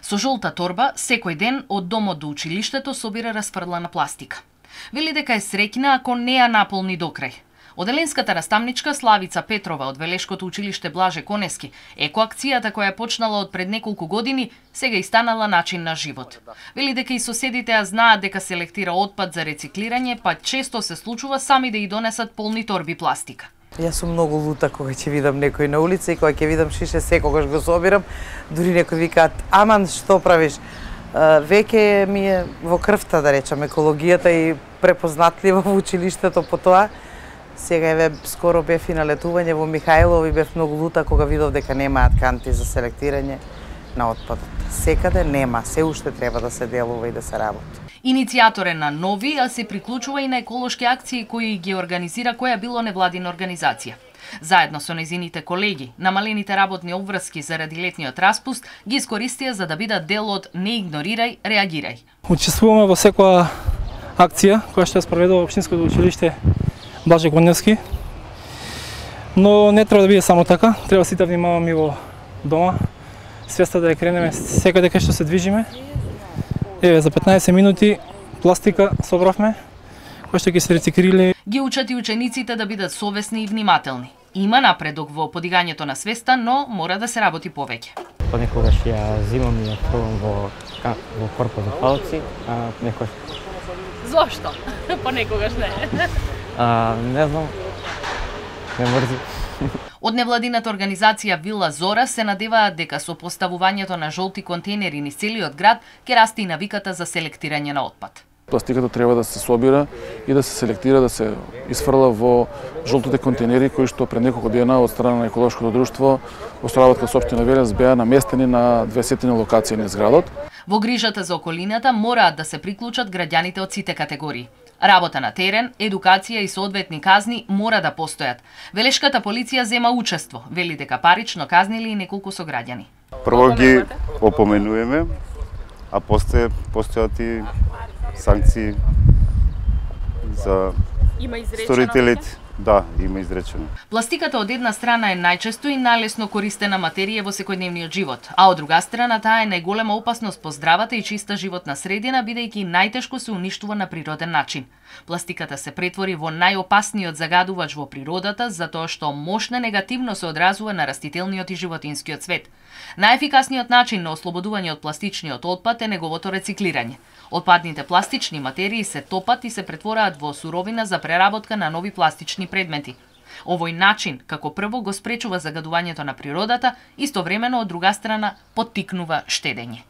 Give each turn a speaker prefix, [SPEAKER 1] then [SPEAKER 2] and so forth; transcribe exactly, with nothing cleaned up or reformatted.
[SPEAKER 1] Со жолта торба, секој ден од домот до училиштето собира расфрлана пластика. Вели дека е среќна ако не ја наполни до крај. Оделенската наставничка Славица Петрова од Велешкото училиште Блаже Конески, екоакцијата која е почнала од пред неколку години, сега и станала начин на живот. Вели дека и соседите ја знаат дека селектира отпад за рециклирање, па често се случува сами да ја донесат полни торби пластика.
[SPEAKER 2] Јас сум многу лута кога ќе видам некој на улица и кога ќе видам шише, секогаш го собирам. Дури некои викаат: "Аман, што правиш?" Веќе ми е во крвта, да речам, екологијата и препознатлива во училиштето по тоа. Сега еве скоро бев и на летување во Михајлово и бев многу лута кога видов дека немаат канти за селектирање на отпадот. Секаде нема, се уште треба да се делува и да се работи.
[SPEAKER 1] Иницијатор е на нови, а се приклучува и на еколошки акции кои ги организира која било невладина организација. Заедно со незините колеги, намалените работни обврски заради летниот распуст ги искористија за да бидат дел од "Не игнорирај, реагирај".
[SPEAKER 3] Учествуваме во секоја акција која што ја спроведува општинското училиште Блаже Коневски. Но не треба да биде само така, треба сите да внимаваме и во дома. Свеста да ја кренеме секаде кај што се движиме. Еве за петнаесет минути пластика собравме, кој што ќе се рециклирали.
[SPEAKER 1] Ги учат и учениците да бидат совесни и внимателни. Има напредок во подигањето на свеста, но мора да се работи повеќе.
[SPEAKER 4] Понекогаш ја зимам и ја фрлам во во корпот за палци, а некој.
[SPEAKER 1] Зошто? Понекогаш не.
[SPEAKER 4] А, не знам. Не мрзи.
[SPEAKER 1] Од невладината организација Вила Зора се надеваат дека со поставувањето на жолти контейнери низ целиот град ќе расте и навиката за селектирање на отпад.
[SPEAKER 5] Пластиката треба да се собира и да се селектира, да се изфрла во жолтите контейнери кои што пред неколку дена од страна на еколошкото друштво Островатска општина Велес беа наместени на двесетина локации низ градот.
[SPEAKER 1] Во грижата за околината мораат да се приклучат граѓаните од сите категории. Работа на терен, едукација и соодветни казни мора да постојат. Велешката полиција зема учество, вели дека парично казнили и неколку сограѓани.
[SPEAKER 6] Прво ги опоменуваме, а после постојат и санкции за сторителите. Да, има изречено.
[SPEAKER 1] Пластиката од една страна е најчесто и најлесно користена материја во секојдневниот живот, а од друга страна таа е најголема опасност по здравата и чиста животна средина, бидејќи најтешко се уништува на природен начин. Пластиката се претвори во најопасниот загадувач во природата затоа што мощно негативно се одразува на растителниот и животинскиот свет. Најефикасниот начин на ослободување од пластичниот отпад е неговото рециклирање. Отпадните пластични материи се топат и се претвораат во суровина за преработка на нови пластични предмети. Овој начин, како прво, го спречува загадувањето на природата, истовремено од друга страна поттикнува штедење.